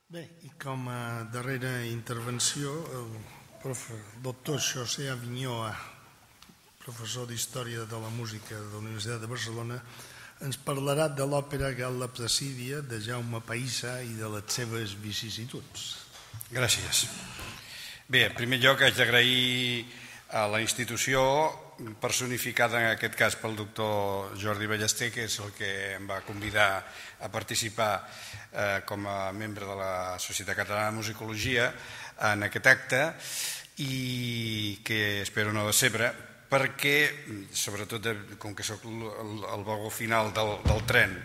Bé, i com a darrera intervenció, el doctor José Avinyó, professor d'Història de la Música de la Universitat de Barcelona, ens parlarà de l'òpera Gal·la Placídia de Jaume Pahissa i de les seves vicissituds. Gràcies. Bé, en primer lloc haig d'agrair a la institució personificada en aquest cas pel doctor Jordi Ballester, que és el que em va convidar a participar com a membre de la Societat Catalana de Musicologia en aquest acte, i que espero no decebre, perquè, sobretot com que soc el vagó final del tren,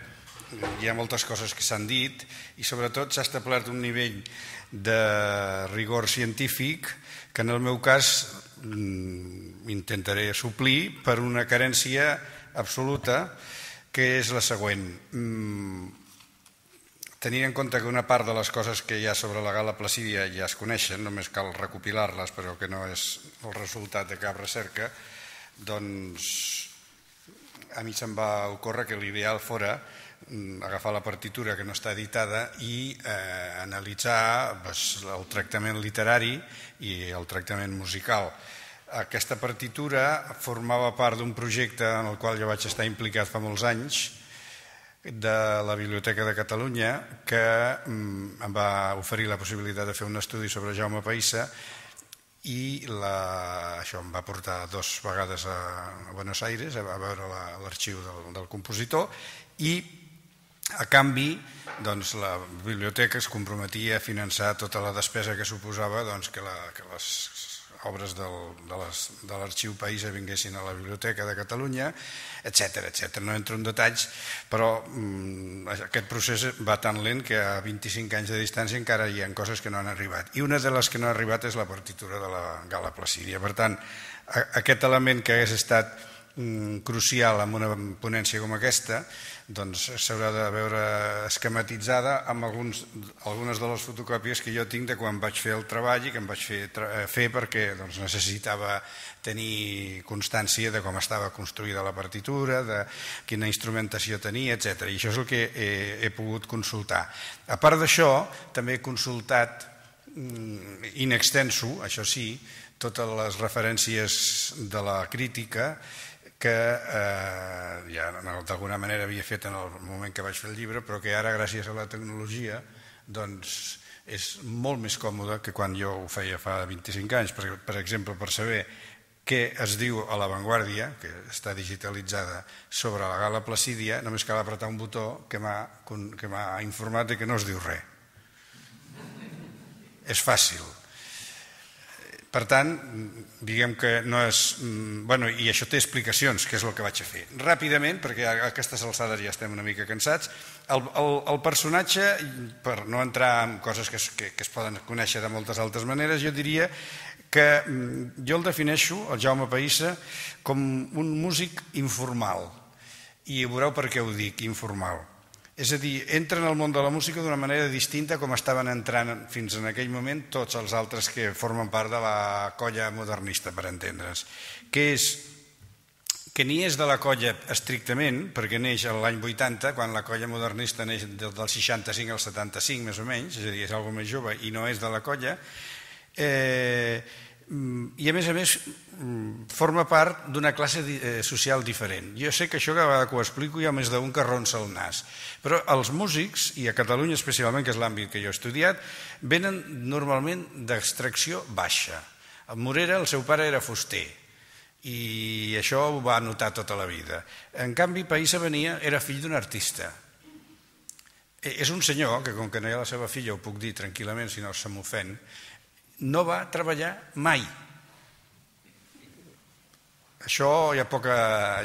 hi ha moltes coses que s'han dit i sobretot s'ha establert un nivell de rigor científic que en el meu cas intentaré suplir per una carència absoluta, que és la següent. Tenint en compte que una part de les coses que hi ha sobre la Gal·la Placídia ja es coneixen, només cal recopilar-les, però que no és el resultat de cap recerca, doncs a mi se'm va ocórrer que l'ideal fora agafar la partitura que no està editada i analitzar el tractament literari i el tractament musical. Aquesta partitura formava part d'un projecte en el qual jo vaig estar implicat fa molts anys, de la Biblioteca de Catalunya, que em va oferir la possibilitat de fer un estudi sobre Jaume Pahissa, i això em va portar 2 vegades a Buenos Aires a veure l'arxiu del compositor, i a canvi la biblioteca es comprometia a finançar tota la despesa que suposava que les obres de l'arxiu Pahissa vinguessin a la Biblioteca de Catalunya, etc. No entro en detalls, però aquest procés va tan lent que a 25 anys de distància encara hi ha coses que no han arribat. I una de les que no ha arribat és la partitura de la Gal·la Placídia. Per tant, aquest element que hagués estat crucial en una ponència com aquesta s'haurà de veure esquematitzada amb algunes de les fotocòpies que jo tinc de quan vaig fer el treball i que em vaig fer perquè necessitava tenir constància de com estava construïda la partitura, de quina instrumentació tenia, etc. I això és el que he pogut consultar. A part d'això, també he consultat in extenso, això sí, totes les referències de la crítica que ja d'alguna manera havia fet en el moment que vaig fer el llibre, però que ara, gràcies a la tecnologia, és molt més còmode que quan jo ho feia fa 25 anys. Per exemple, per saber què es diu a La Vanguardia, que està digitalitzada, sobre la Gal·la Placídia, només cal apretar un botó que m'ha informat que no es diu res. És fàcil. Per tant, diguem que no és... I això té explicacions, que és el que vaig a fer. Ràpidament, perquè a aquestes alçades ja estem una mica cansats, el personatge, per no entrar en coses que es poden conèixer de moltes altres maneres, jo diria que jo el defineixo, el Jaume Pahissa, com un músic informal. I veureu per què ho dic, informal. És a dir, entra en el món de la música d'una manera distinta com estaven entrant fins en aquell moment tots els altres que formen part de la colla modernista, per entendre's, que és que ni és de la colla estrictament, perquè neix l'any 80, quan la colla modernista neix del 65 al 75, més o menys, és a dir, és una cosa més jove i no és de la colla, i a més forma part d'una classe social diferent. Jo sé que això cada vegada que ho explico hi ha més d'un que ronsa el nas, però els músics, i a Catalunya especialment, que és l'àmbit que jo he estudiat, venen normalment d'extracció baixa. A Morera el seu pare era fuster i això ho va notar tota la vida. En canvi, Pahissa era fill d'un artista. És un senyor que, com que no hi ha la seva filla, ho puc dir tranquil·lament si no se m'ofèn, no va treballar mai. Això hi ha poca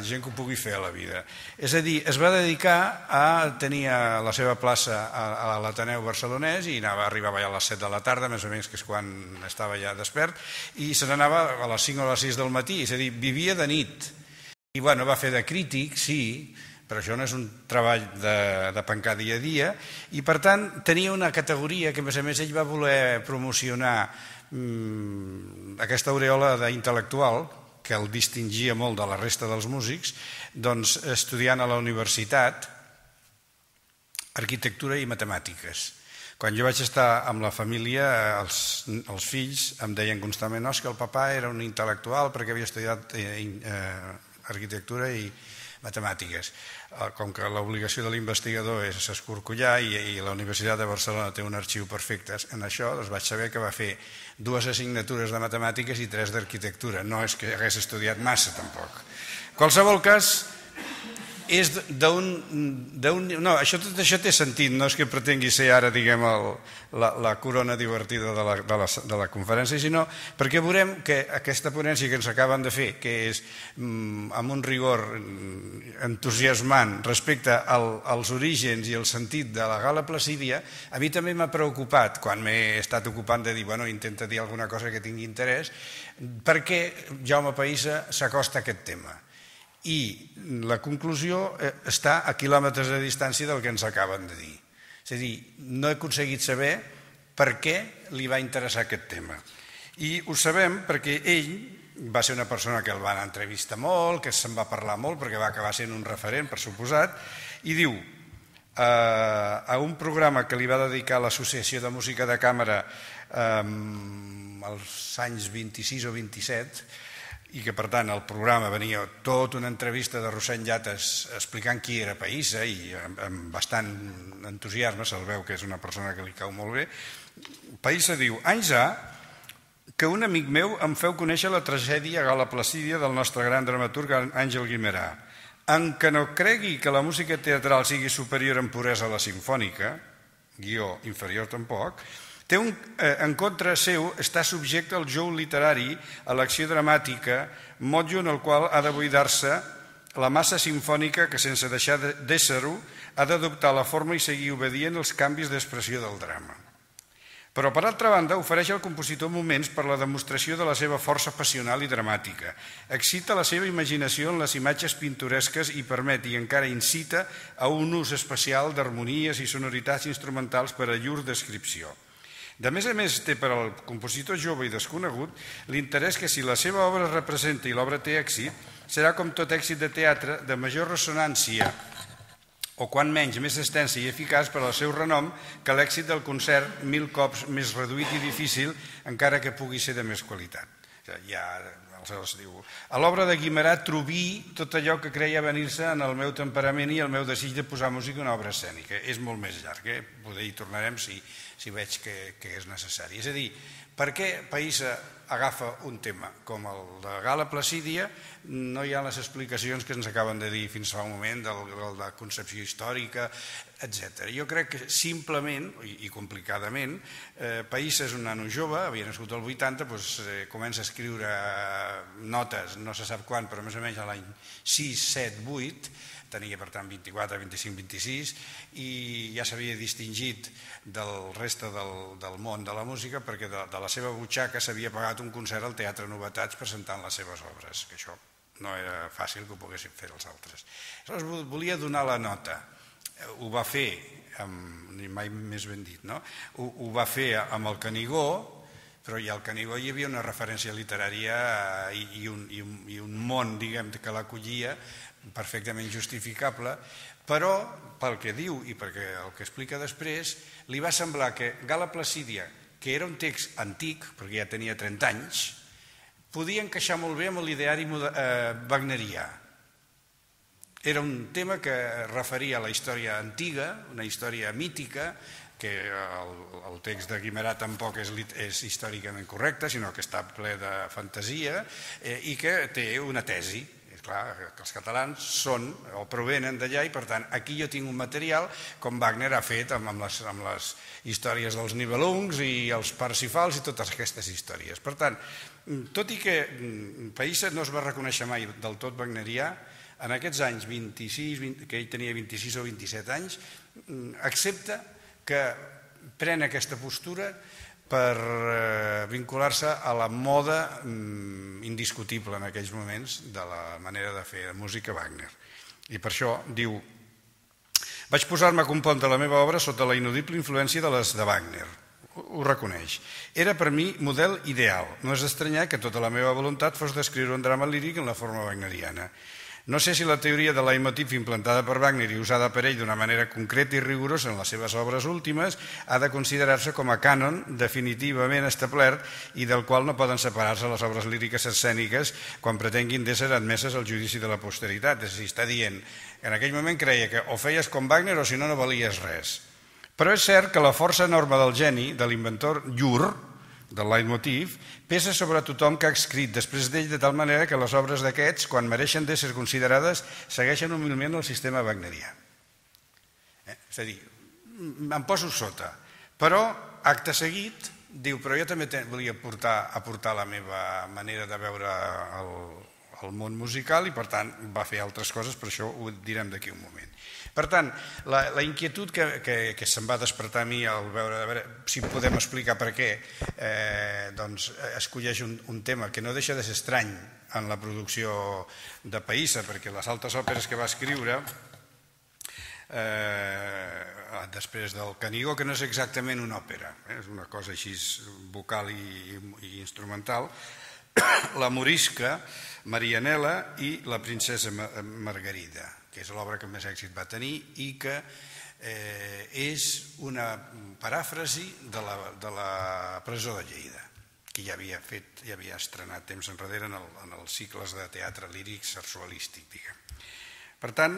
gent que ho pugui fer a la vida. És a dir, es va dedicar a tenir la seva plaça a l'Ateneu barcelonès i arribava ja a les 7 de la tarda, més o menys, que és quan estava ja despert, i se n'anava a les 5 o a les 6 del matí, és a dir, vivia de nit. I va fer de crític, sí, però això no és un treball de pencar dia a dia, i per tant tenia una categoria que a més ell va voler promocionar aquesta aureola d'intel·lectual que el distingia molt de la resta dels músics, estudiant a la universitat arquitectura i matemàtiques. Quan jo vaig estar amb la família, els fills em deien constantment no, és que el papà era un intel·lectual perquè havia estudiat arquitectura i matemàtiques. Com que l'obligació de l'investigador és escorcollar i la Universitat de Barcelona té un arxiu perfecte en això, doncs vaig saber que va fer 2 assignatures de matemàtiques i 3 d'arquitectura. No és que hagués estudiat massa, tampoc. En qualsevol cas, és no, tot això té sentit, no és que pretengui ser ara, diguem, la corona divertida de la conferència, sinó perquè veurem que aquesta ponència que ens acaben de fer, que és amb un rigor entusiasmant respecte als orígens i el sentit de la Gala Placídia, a mi també m'ha preocupat, quan m'he estat ocupant de dir, bueno, intenta dir alguna cosa que tingui interès, per què Jaume Pahissa s'acosta a aquest tema. I la conclusió està a quilòmetres de distància del que ens acaben de dir. És a dir, no he aconseguit saber per què li va interessar aquest tema. I ho sabem perquè ell va ser una persona que el van entrevistar molt, que se'n va parlar molt perquè va acabar sent un referent, per suposat, i diu a un programa que li va dedicar l'Associació de Música de Càmera als anys 26 o 27, i que per tant el programa venia tota una entrevista de Rossend Llates explicant qui era Pahissa i amb bastant entusiasme, se'l veu que és una persona que li cau molt bé. Pahissa diu, anys ha que un amic meu em feu conèixer la tragèdia Gala Placídia del nostre gran dramaturg Àngel Guimerà, en què no cregui que la música teatral sigui superior en puresa a la sinfònica, guió inferior tampoc, té en contra seu està subjecte al jou literari, a l'acció dramàtica, motlle en el qual ha de buidar-se la massa sinfònica que, sense deixar d'ésser-ho, ha d'adoptar la forma i seguir obedient als canvis d'expressió del drama. Però, per altra banda, ofereix al compositor moments per la demostració de la seva força passional i dramàtica, excita la seva imaginació en les imatges pintoresques i permet i encara incita a un ús especial d'harmonies i sonoritats instrumentals per a llur descripció. De més a més, té per al compositor jove i desconegut l'interès que si la seva obra es representa i l'obra té èxit, serà com tot èxit de teatre de major ressonància o quan menys més extensa i eficaç per al seu renom que l'èxit del concert 1000 cops més reduït i difícil, encara que pugui ser de més qualitat. Aleshores diu, a l'obra de Guimerà trobí tot allò que creia venir-se en el meu temperament i el meu desig de posar música en una obra escènica. És molt més llarg, poder hi tornarem si veig que és necessari. És a dir, per què Pahissa agafa un tema com el de Gala Placídia? No hi ha les explicacions que ens acaben de dir fins fa un moment de la concepció històrica, etc. Jo crec que simplement i complicadament Pahissa és un nano jove, havia nascut al 80, comença a escriure notes, no se sap quan, però més o menys a l'any 6, 7, 8, tenia per tant 24, 25, 26 i ja s'havia distingit del reste del món de la música perquè de la seva butxaca s'havia pagat un concert al Teatre Novetats presentant les seves obres, que això no era fàcil que ho poguessin fer els altres. Aleshores volia donar la nota, ho va fer, mai més ben dit, no? Ho va fer amb el Canigó, però ja al Canigó hi havia una referència literària i un món, diguem, que l'acollia perfectament justificable, però pel que diu i perquè el que explica després, li va semblar que Gala Placídia, que era un text antic, perquè ja tenia 30 anys, podia encaixar molt bé amb l'ideari wagnerià. Era un tema que referia a la història antiga, una història mítica, que el text de Guimerà tampoc és històricament correcte, sinó que està ple de fantasia i que té una tesi. Clar, que els catalans són o provenen d'allà i per tant aquí jo tinc un material com Wagner ha fet amb les històries dels Nibelungs i els Parsifals i totes aquestes històries. Per tant, tot i que Pahissa no es va reconèixer mai del tot wagnerià, en aquests anys 26, que ell tenia 26 o 27 anys, accepta que pren aquesta postura per vincular-se a la moda indiscutible en aquells moments de la manera de fer música Wagner. I per això diu: vaig posar-me a compondre la meva obra sota la inudible influència de les de Wagner. Ho reconeix. Era per mi model ideal. No és d'estranyar que tota la meva voluntat fos d'escriure un drama líric en la forma wagneriana. No sé si la teoria de leitmotiv implantada per Wagner i usada per ell d'una manera concreta i rigorosa en les seves obres últimes ha de considerar-se com a cànon definitivament establert i del qual no poden separar-se les obres líriques escèniques quan pretenguin d'ésser admeses al judici de la posteritat. És a dir, està dient que en aquell moment creia que o feies com Wagner o si no, no valies res. Però és cert que la força enorme del geni, de l'inventor llur, del leitmotiv, pesa sobre tothom que ha escrit després d'ell de tal manera que les obres d'aquests, quan mereixen d'ésser considerades, segueixen humilment el sistema wagnerià. És a dir, em poso sota, però acte seguit diu, però jo també volia aportar la meva manera de veure el món musical i per tant va fer altres coses, però això ho direm d'aquí un moment. Per tant, la inquietud que se'm va despertar a mi al veure si podem explicar per què escolleix un tema que no deixa de ser estrany en la producció de Pahissa, perquè les altres òperes que va escriure després del Canigó, que no és exactament una òpera, és una cosa així vocal i instrumental, la Morisca, Marianela i la princesa Margarida, que és l'obra que més èxit va tenir i que és una paràfrasi de la presó de Lleida, que ja havia estrenat temps enrere en els cicles de teatre líric sarsualístic, diguem. Per tant,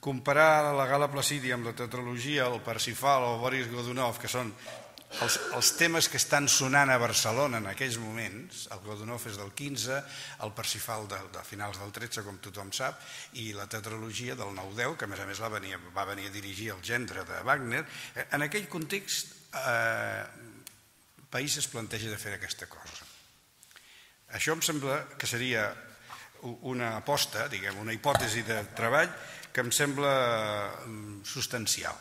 comparar la Gala Placídia amb la tetralogia, el Parsifal o Boris Godunov, que són els temes que estan sonant a Barcelona en aquells moments, el Godunov és del 15, el Parsifal de finals del 13, com tothom sap, i la tetralogia del 9-10, que a més va venir a dirigir el gendre de Wagner. En aquell context, Pahissa es planteja de fer aquesta cosa. Això em sembla que seria una aposta, diguem, una hipòtesi de treball que em sembla substancial.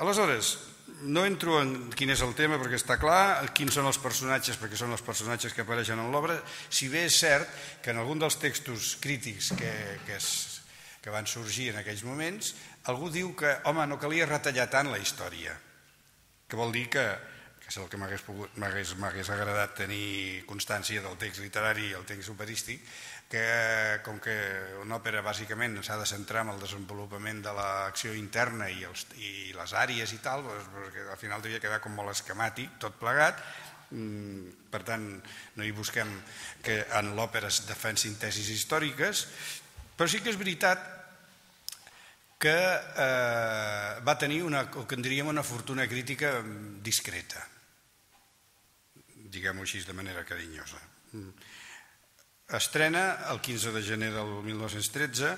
Aleshores, no entro en quin és el tema perquè està clar, quins són els personatges perquè són els personatges que apareixen en l'obra, si bé és cert que en algun dels textos crítics que van sorgir en aquells moments, algú diu que, home, no calia retallar tant la història, que vol dir que és el que m'hagués agradat tenir constància del text literari i el text operístic, que com que una òpera bàsicament s'ha de centrar en el desenvolupament de l'acció interna i les àrees i tal, perquè al final devia quedar com molt esquemàtic, tot plegat. Per tant, no hi busquem que en l'òpera es defensin tesis històriques, però sí que és veritat que va tenir el que en diríem una fortuna crítica discreta, diguem-ho així de manera carinyosa. Estrena el 15 de gener del 1913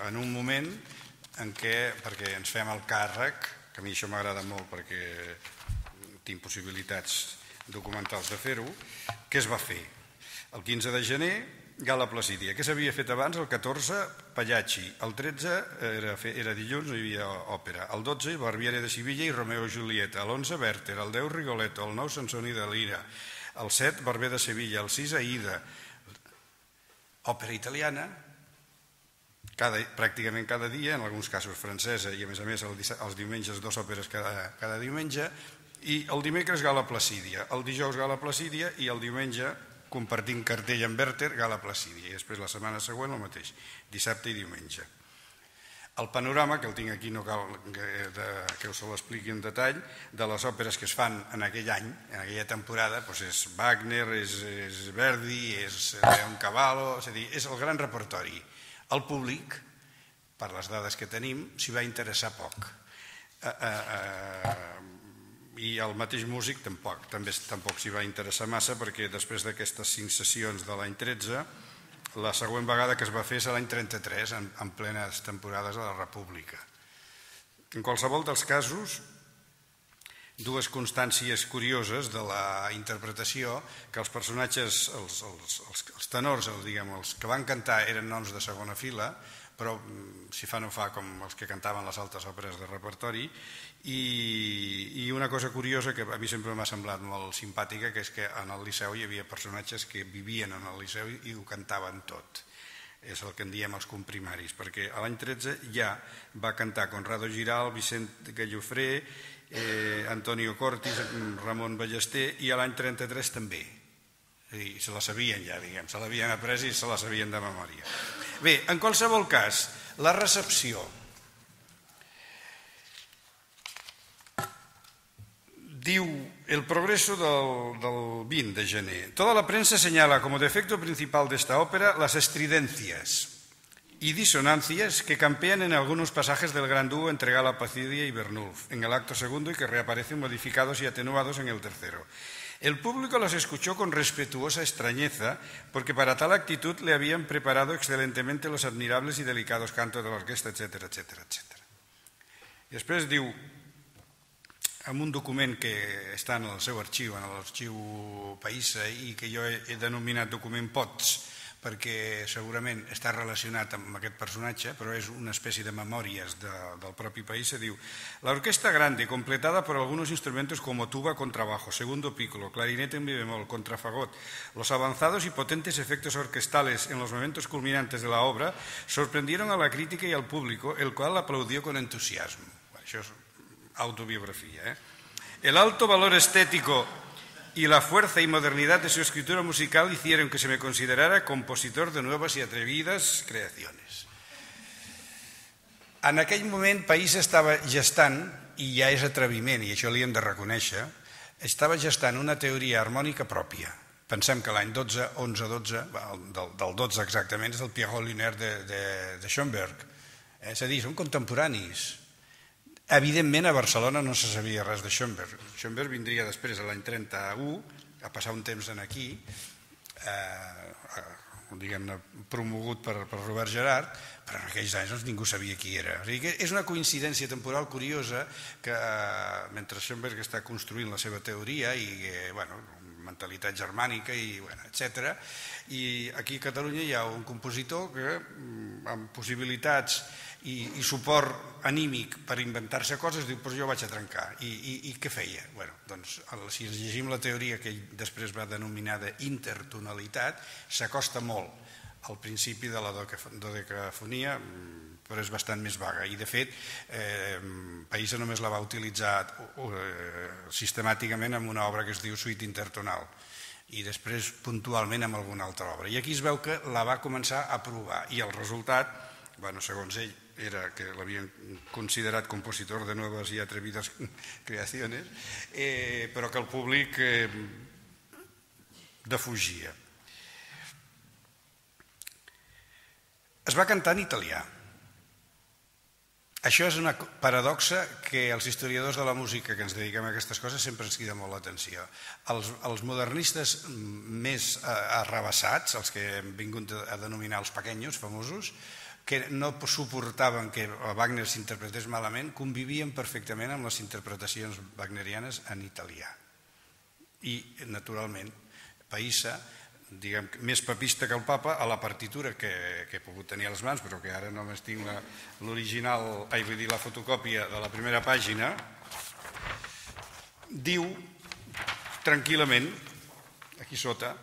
en un moment en què, perquè ens fem el càrrec, que a mi això m'agrada molt perquè tinc possibilitats documentals de fer-ho, què es va fer? El 15 de gener, Gala Placídia. Què s'havia fet abans? El 14, Pagliacci. El 13 era dilluns, no hi havia òpera. El 12, Barbiere de Sivilla i Romeo i Julieta. El 11, Werther. El 10, Rigoletto. El 9, Sansoni de Lira. El 7, Barber de Sevilla. El 6, Aida. Òpera italiana, pràcticament cada dia, en alguns casos francesa, i a més els diumenges 2 òperes cada diumenge, i el dimecres Gala Placídia. El dijous Gala Placídia i el diumenge, compartint cartell amb Werther, Gala Placídia, i després la setmana següent el mateix, dissabte i diumenge. El panorama, que el tinc aquí, no cal que us l'expliqui en detall, de les òperes que es fan en aquell any, en aquella temporada, és Wagner, és Verdi, és Leoncavallo, és a dir, és el gran repertori. El públic, per les dades que tenim, s'hi va interessar poc. I el mateix músic tampoc s'hi va interessar massa, perquè després d'aquestes 5 sessions de l'any 13, la següent vegada que es va fer és l'any 33, en plenes temporades de la República. En qualsevol dels casos, dues constàncies curioses de la interpretació, que els personatges, els tenors, els que van cantar eren noms de segona fila, però si fa no fa com els que cantaven les altres òperes de repertori, i una cosa curiosa que a mi sempre m'ha semblat molt simpàtica, que és que en el Liceu hi havia personatges que vivien en el Liceu i ho cantaven tot. És el que en diem els comprimaris, perquè l'any 13 ja va cantar Conrado Giral, Vicent Gallofré, Antonio Cortis, Ramon Ballester, i l'any 33 també. I se la sabien ja, diguem, se l'havien après i se la sabien de memòria. Bé, en qualsevol cas, la recepció. Diu el progreso del 20 de gener. Toda la prensa señala como defecto principal de esta ópera las estridencias y disonancias que campean en algunos pasajes del gran dúo entre Gala Placidia y Bernulf en el acto segundo y que reaparecen modificados y atenuados en el tercero. El público los escuchó con respetuosa extrañeza porque para tal actitud le habían preparado excelentemente los admirables y delicados cantos de la orquesta, etcétera, etcétera, etcétera. I després diu, en un document que està en el seu arxiu, en l'arxiu Païssa, i que jo he denominat document POTS, perquè segurament està relacionat amb aquest personatge, però és una espècie de memòries del propi Païssa, diu: la orquesta grande, completada por algunos instrumentos como tuba, contrabajo, segundo piccolo, clarinete en mi bemol, contrafagot, los avanzados y potentes efectos orquestales en los momentos culminantes de la obra, sorprendieron a la crítica y al público, el cual aplaudió con entusiasmo. Això és autobiografía. El alto valor estético y la fuerza y modernidad de su escritura musical hicieron que se me considerara compositor de nuevas y atrevidas creaciones. En aquell moment Païssa estava gestant, i ja és atreviment, i això li hem de reconèixer, estava gestant una teoria harmònica pròpia. Pensem que l'any 11-12, del 12 exactament, és el Pierrot Lunaire de Schoenberg. És a dir, són contemporanis. Evidentment, a Barcelona no se sabia res de Schoenberg. Schoenberg vindria després, l'any 31, a passar un temps aquí, diguem-ne, promogut per Robert Gerhard, però en aquells anys ningú sabia qui era. O sigui, és una coincidència temporal curiosa que mentre Schoenberg està construint la seva teoria i, mentalitat germànica i etc. I aquí a Catalunya hi ha un compositor que amb possibilitats i suport anímic per inventar-se coses diu, però jo vaig a trencar. I què feia? Doncs si ens llegim la teoria que ell després va denominar d'intertonalitat, s'acosta molt al principi de la dodecafonia, però és bastant més vaga. I de fet, Païssa només la va utilitzar sistemàticament en una obra que es diu Suite intertonal i després puntualment en alguna altra obra. I aquí es veu que la va començar a provar i el resultat, segons ell, era que l'havien considerat compositor de nuevas y atrevidas creaciones, però que el públic defugia. Es va cantar en italià. Això és una paradoxa que els historiadors de la música que ens dediquem a aquestes coses sempre ens crida molt l'atenció. Els modernistes més arrabassats, els que hem vingut a denominar els pequeños, famosos, que no suportaven que Wagner s'interpretés malament, convivien perfectament amb les interpretacions wagnerianes en italià. I, naturalment, Païssa, diguem, més papista que el papa, a la partitura que he pogut tenir a les mans, però que ara només tinc l'original, vull dir, la fotocòpia de la primera pàgina, diu tranquil·lament, aquí sota,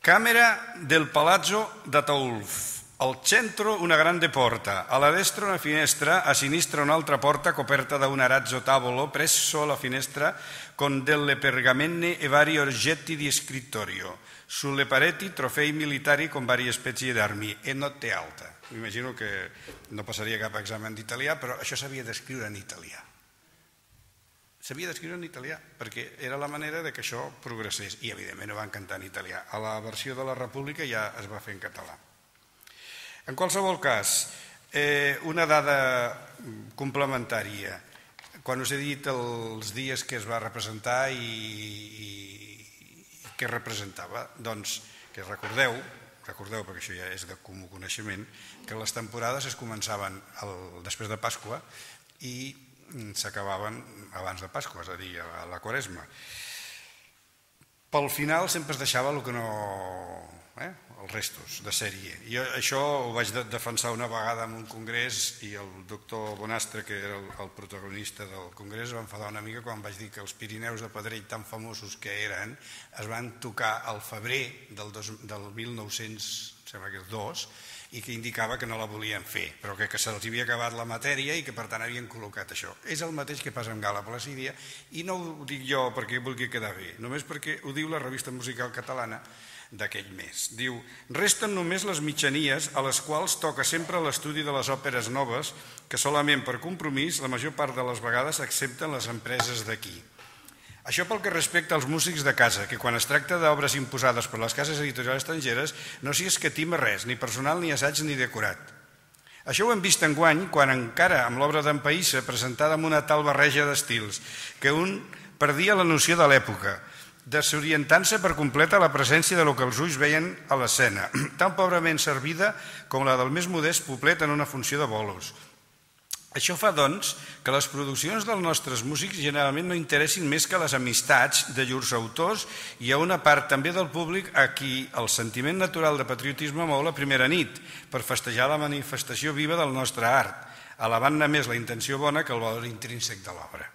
Camera del Palazzo d'Ataulf. Al centro una grande porta, alla destra una finestra, a sinistra un'altra porta coperta da un arazzo tavolo presso la finestra con delle pergamenne e vari oggetti di scrittorio. Sulle pareti trofei militari con varie specie d'armi e notte alta. M'imagino que no passaria cap examen d'italià, però això s'havia d'escriure en italià. S'havia d'escriure en italià, perquè era la manera que això progressés. I, evidentment, ho van cantar en italià. A la versió de la República ja es va fer en català. En qualsevol cas, una dada complementària. Quan us he dit els dies que es va representar i què representava, doncs que recordeu, perquè això ja és de comú coneixement, que les temporades es començaven després de Pasqua i s'acabaven abans de Pasqua, és a dir, a la Quaresma. Pel final sempre es deixava el que no... els restos de sèrie. Jo això ho vaig defensar una vegada en un congrés i el doctor Bonastre, que era el protagonista del congrés, va enfadar una mica quan vaig dir que els Pirineus de Pedrell, tan famosos que eren, es van tocar al febrer del 1902 i que indicava que no la volien fer, però que se'ls havia acabat la matèria i que per tant havien col·locat això. És el mateix que passa amb Gala Placidia i no ho dic jo perquè vulgui quedar bé, només perquè ho diu la revista musical catalana. d'aquell mes. Diu, resten només les mitjanies a les quals toca sempre l'estudi de les òperes noves que solament per compromís la major part de les vegades accepten les empreses d'aquí. Això pel que respecta als músics de casa, que quan es tracta d'obres imposades per les cases editorials estrangeres no s'hi escatima res, ni personal, ni assaig, ni decorat. Això ho hem vist enguany quan encara amb l'obra d'en Païssa presentada amb una tal barreja d'estils que un perdia la noció de l'època, desorientant-se per completa la presència de lo que els ulls veien a l'escena, tan pobrament servida com la del més modest poblet en una funció de bolos. Això fa, doncs, que les produccions dels nostres músics generalment no interessin més que les amistats de llurs autors i a una part també del públic a qui el sentiment natural de patriotisme mou la primera nit per festejar la manifestació viva del nostre art, alabant-ne més la intenció bona que el valor intrínsec de l'obra.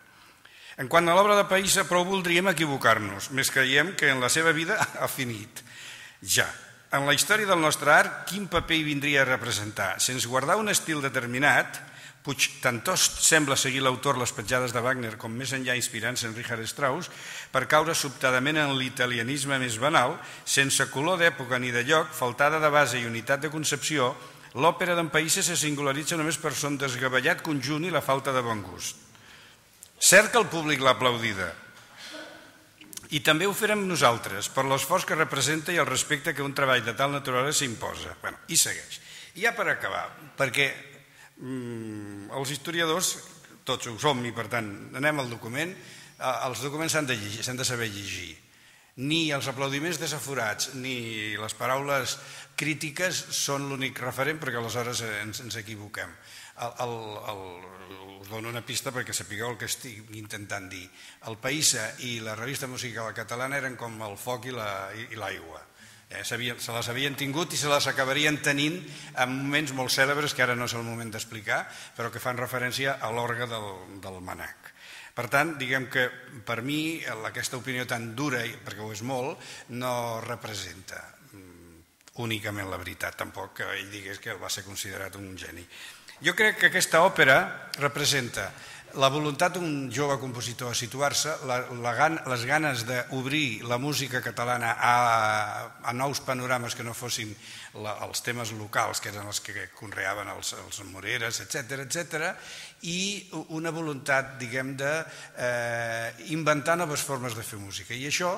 En quant a l'obra de Païssa, prou voldríem equivocar-nos, més creiem que en la seva vida ha finit. Ja, en la història del nostre art, quin paper hi vindria a representar? Sense guardar un estil determinat, Puigtantost sembla seguir l'autor les petjades de Wagner com més enllà inspirant-se en Richard Strauss per caure sobtadament en l'italianisme més banal, sense color d'època ni de lloc, faltada de base i unitat de concepció, l'òpera d'en Païssa se singularitza només per son desgavellat conjunt i la falta de bon gust. Cert que el públic l'ha aplaudida, i també ho farem nosaltres, per l'esforç que representa i el respecte que un treball de tal naturalesa s'imposa. I segueix. I ja per acabar, perquè els historiadors, tots ho som i per tant anem al document, els documents s'han de saber llegir. Ni els aplaudiments desaforats ni les paraules crítiques són l'únic referent perquè aleshores ens equivoquem. Us dono una pista perquè sapigueu el que estic intentant dir. El Païssa i la revista musical catalana eren com el foc i l'aigua. Se les havien tingut i se les acabarien tenint en moments molt cèlebres que ara no és el moment d'explicar, però que fan referència a l'orgue del Manac. Per tant, diguem que per mi aquesta opinió tan dura, perquè ho és molt, no representa únicament la veritat, tampoc que ell digués que va ser considerat un geni. Jo crec que aquesta òpera representa la voluntat d'un jove compositor a situar-se, les ganes d'obrir la música catalana a nous panorames que no fossin els temes locals, que eren els que conreaven els Moreres, etc., i una voluntat, diguem, d'inventar noves formes de fer música. I això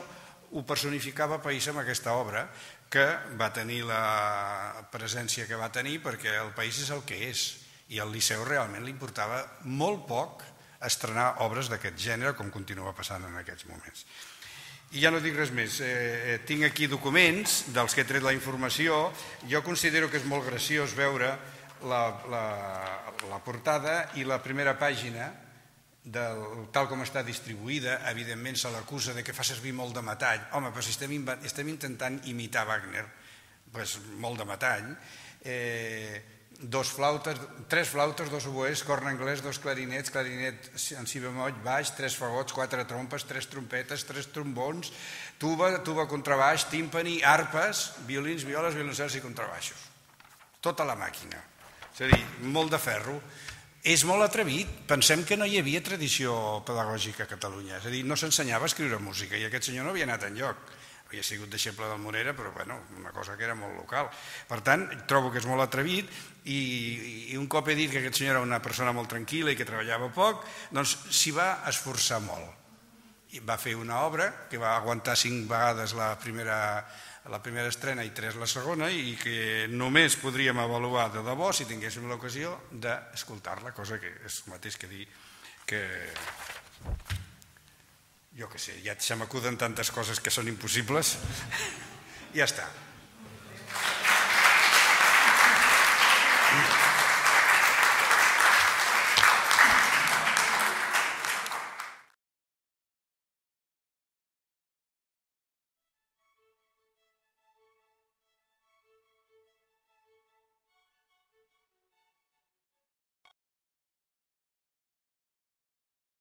ho personificava Païssa amb aquesta obra, que va tenir la presència que va tenir perquè el país és el que és. I al Liceu realment li importava molt poc estrenar obres d'aquest gènere, com continua passant en aquests moments. I ja no dic res més. Tinc aquí documents dels que he tret la informació. Jo considero que és molt graciós veure la portada i la primera pàgina, tal com està distribuïda. Evidentment se l'acusa que fa servir molt de metall. Home, però si estem intentant imitar Wagner, molt de metall. Tres flautes, dos oboès, corn anglès, dos clarinets, clarinet en si bemoll, baix, tres fagots, quatre trompes, tres trompetes, tres trombons, tuba contrabaix, tímpani, arpes, violins, violes, violoncels i contrabaixos. Tota la màquina. És a dir, molt de ferro. És molt atrevit. Pensem que no hi havia tradició pedagògica a Catalunya. És a dir, no s'ensenyava a escriure música i aquest senyor no havia anat enlloc. Havia sigut deixeble del Morera, però una cosa que era molt local. Per tant, trobo que és molt atrevit i un cop he dit que aquest senyor era una persona molt tranquil·la i que treballava poc, doncs s'hi va esforçar molt. I va fer una obra que va aguantar 5 vegades la primera estrena i 3 la segona i que només podríem avaluar de debò si tinguéssim l'ocasió d'escoltar-la, cosa que és el mateix que dir que... Jo què sé, ja se m'acuden tantes coses que són impossibles. Ja està.